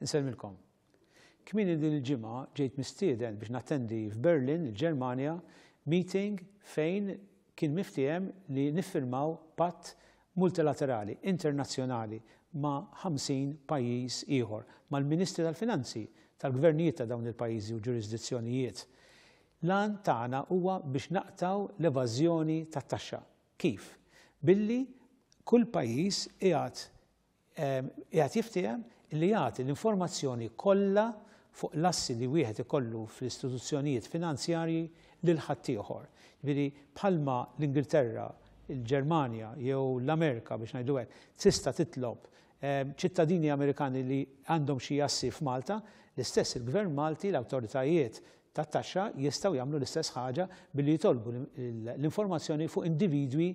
Insellmilkom. Kmieni din il-ġimgħa ġejt mistieden biex nattendi f'Berlin, il-Ġermanja, meeting fejn kien miftiehem li niffirmaw patt multilaterali, internazzjonali ma' 50 pajjiż ieħor, mal-Ministri tal-Finanzi tal-gvernijiet ta' dawn il-pajjiżi u ġurisdizzjonijiet. L-għan tagħna huwa biex naqtgħu l-evażjoni tat-taxxa. Kif? Billi kull pajjiż qiegħed qiegħed jiftiehem li jagħti l-informazzjoni kollha fuq l-assi li wieħed ikollu fl-istituzzjonijiet finanzjarji lil ħaddieħor. Jiġifieri bħalma l-Ingilterra, il-Ġermanja jew l-Amerika biex ngħidu hekk tista' titlob ċittadini Amerikani li għandhom xi assi f'Malta, l-istess il-Gvern Malti, l-awtoritajiet tat-taxxa jistgħu jagħmlu l-istess ħaġa billi jitolbu l-informazzjoni fuq individwi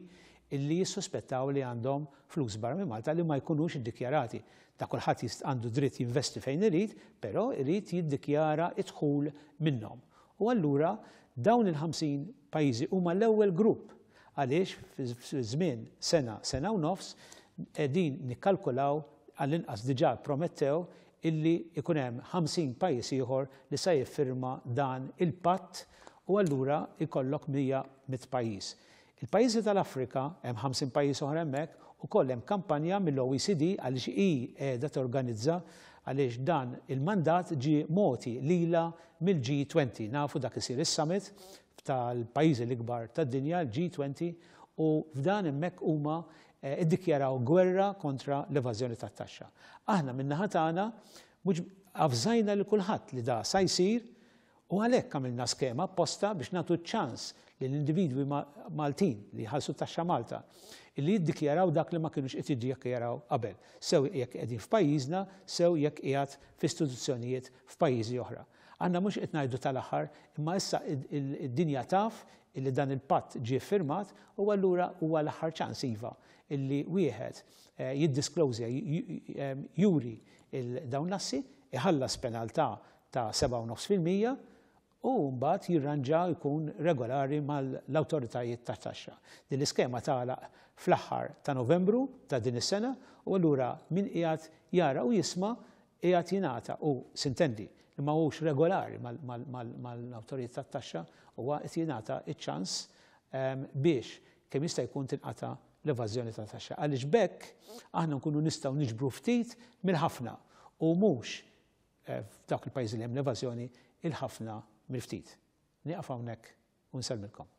illi jissuspettaw li għandhom flus barra minn Malta li ma jkunux iddikjarati. Ta' kulħadd għandu dritt jinvesti fejn irid, però irid jiddikjara d-dħul minnhom. U allura dawn il-50 pajjiżi huma l-ewwel grupp għaliex fi żmien sena, sena u nofs qegħdin nikkalkulaw għall-inqas diġà ppromettew illi jkun hemm 50 pajjiż ieħor li sa jiffirma dan il-patt u allura jkollok 100 mitt pajjiż. Il-pajjiżi tal-Afrika, hemm 50 pajjiż oħra hemmhekk, ukoll hemm kampanja mill-OECD għaliex hi qiegħda torganizza għaliex dan il-mandat ġie mogħti lilha mill-G20. Nafu dak isir is-summit tal-pajjiżi l-ikbar tad-dinja, l-G20, u f'dan hemmhekk huma iddikjaraw gwerra kontra l-evażjoni tat-taxxa. Aħna min-naħa tagħna mhux avżajna lil kulħadd li da sa jsir u għalhekk għamilna skema apposta biex nagħtu ċ-ċans lill-individwi Maltin li jħallsu t-taxxa Malta illi jiddikjaraw dak li ma kinux qed jiddikjaraw qabel, sew jekk qegħdin f'pajjiżna, sew jekk qiegħed f'istituzzjonijiet f'pajjiżi oħra. Aħna mhux qed ngħidu tal-aħħar, imma issa id-dinja taf illi dan il-patt ġie ffirmat u allura huwa l-aħħar ċans iva illi wieħed jiddisclosja, juri dawn l-assi, iħallas penaltà ta' 7.5% u mbagħad jirranġa jkun regolari mal-awtoritajiet tat-taxxa. Din l-iskema tagħlaq fl-aħħar ta' Novembru ta' din is-sena u allura min qiegħed jara u jisma' qiegħed jingħata u sintendi li ma hux regolari mal-awtoritajiet tat-taxxa huwa qed jingħata ċ-ċans biex kemm jista' jkun tinqata' l-evażjoni ta' taxxa. Għaliex b'hekk aħna nkunu nistgħu niġbru ftit mill-ħafna u mhux f'dawk il-pajjiżi li hemm l-evażjoni il-ħafna mill-ftit. Nieqaf hawnhekk u nsellmilkom.